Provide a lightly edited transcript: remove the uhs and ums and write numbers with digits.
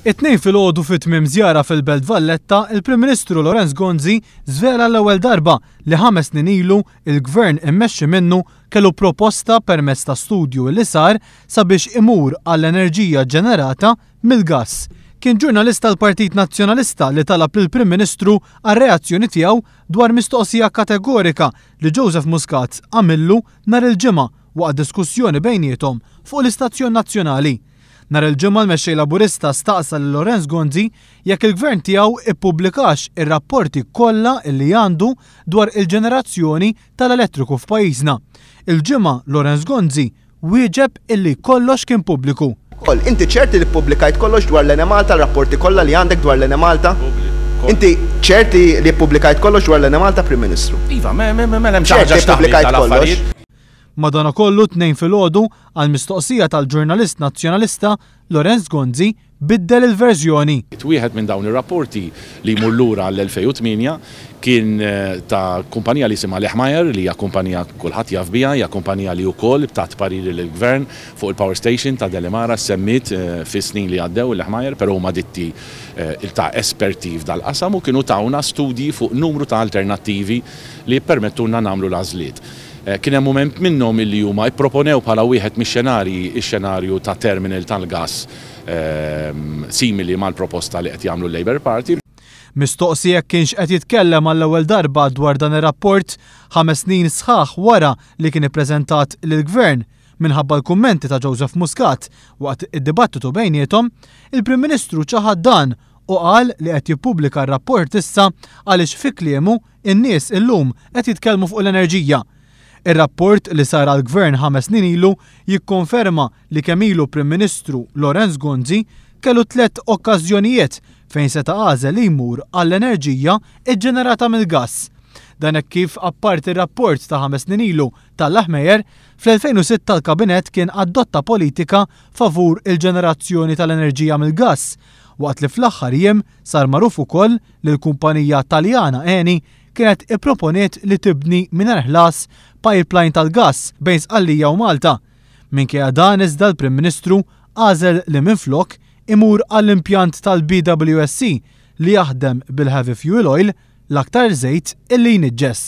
It-Tnejn filgħodu fi tmiem żjara fil-Belt Valletta, il-Prim Ministru Lawrence Gonzi żvela l-ewwel darba li ħames snin ilu il-Gvern immexxi minnu kellu proposta permezz ta' studju li sar sabiex imur għall-enerġija ġenerata mill-gass. Kien ġurnalist tal-Partit Nazzjonalista li talab lill-Prim Ministru għar-reazzjoni tiegħu dwar mistoqsija kategorika li Joseph Muscat għamillu nhar il-Ġimgħa waqt diskussjoni bejniethom fuq l-Istazzjon Nazzjonali. Nhar il-Ġimgħa l-Mexxej Laburista staqsa lil Lawrence Gonzi jekk il-gvern tiegħu ippubblikax ir-rapporti kollha li għandu dwar il-ġenerazzjoni tal-elettriku f'pajjiżna. Il-Ġimgħa Lawrence Gonzi wieġeb illi kollox kien pubbliku. Inti ċerti li ppubblikajt kollox dwar l-Enemalta, l-rapporti kollha li għandek dwar l-Enemalta? Inti ċerti li ppubblikajt kollox dwar l-Enemalta, Prim Ministru? Iva, mela hemm xi ħaġa x'taħbi tal-affarijiet. Madanakollu t-Tnejn filgħodu għal mistoqsija tal-ġurnalist nazzjonalista Lawrence Gonzi biddel il-verżjoni. Wieħed minn dawn ir-rapporti li jmur lura għall-2008 kien ta' kumpanija li jisimha Lehmeyer, li hija kumpanija kulħadd jaf biha, hija kumpanija li wkoll tat pariri lill-gvern fuq il-power station ta' Delimara, semmiet fis-snin li għaddew il-Lehmeyer, però huma ditti ta' esperti f'dal-qasam u kienu tawna studji fuq numru ta' alternattivi li jippermettulna nagħmlu l-għażliet. Kien hemm mument minnhom illi huma ipproponew bħala wieħed mix-xenarji x-xenarju ta' terminal tal-gass simili mal-proposta li qed jagħmlu l-Labour Party. Mistoqsi jekk kienx qed jitkellem għall-ewwel darba dwar dan ir-rapport 5 snin sħaħ wara li kien ippreżentat lill-Gvern minħabba l-kummenti ta' Joseph Muscat waqt id-dibattitu bejniethom, il-Prim Ministru ċaħad dan u qal li qed jippubblika r-rapport issa għaliex fi kliemu in-nies illum qed jitkellmu fuq l-enerġija. Ir-rapport li sar għall-Gvern 5 snin ilu jikkonferma li kemm ilu Prim Ministru Lawrence Gonzi kellu tliet okkażjonijiet fejn seta' għażel li jmur għall-enerġija ġġenerata mill-gass. Dan hekk kif apparti r-rapport ta' 5 snin ilu tal-Lehmeyer, fl-2006 l-Kabinett kien adotta politika favur il-ġenerazzjoni tal-enerġija mill-gass, waqt li fl-aħħar jiem sar magħruf ukoll li l-kumpanija Taljana Eni kienet ipproponiet li tibni mingħajr ħlas pipeline tal-gass bejn Sqallija u Malta. Minkejja dan iżda l-Prim Ministru għażel li minflok imur għall-impjant tal-BWSC li jaħdem bil-heavy fuel oil, l-aktar żejt illi jniġġes.